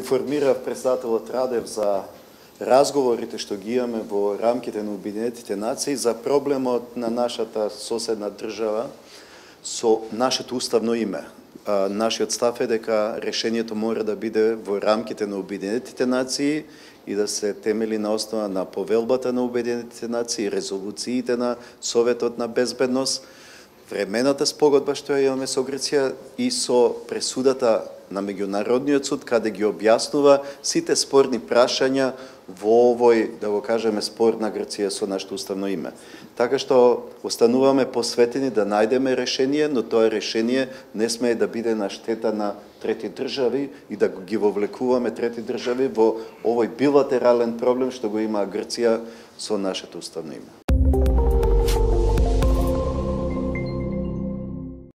информирав председателот Радев за разговорите што ги имаме во рамките на Обединетите нации за проблемот на нашата соседна држава со нашето уставно име. Нашиот став е дека решението мора да биде во рамките на Обединетите нации и да се темели на основа на повелбата на Обединетите нации, резолуциите на Советот на безбедност, времената спогодба што ја имаме со Грција и со пресудата на меѓународниот суд, каде ги објаснува сите спорни прашања во овој, да го кажеме, спор на Грција со нашето уставно име. Така што остануваме посветени да најдеме решение, но тоа решение не смее да биде на штета на трети држави и да ги вовлекуваме трети држави во овој билатерален проблем што го има Грција со нашето уставно име.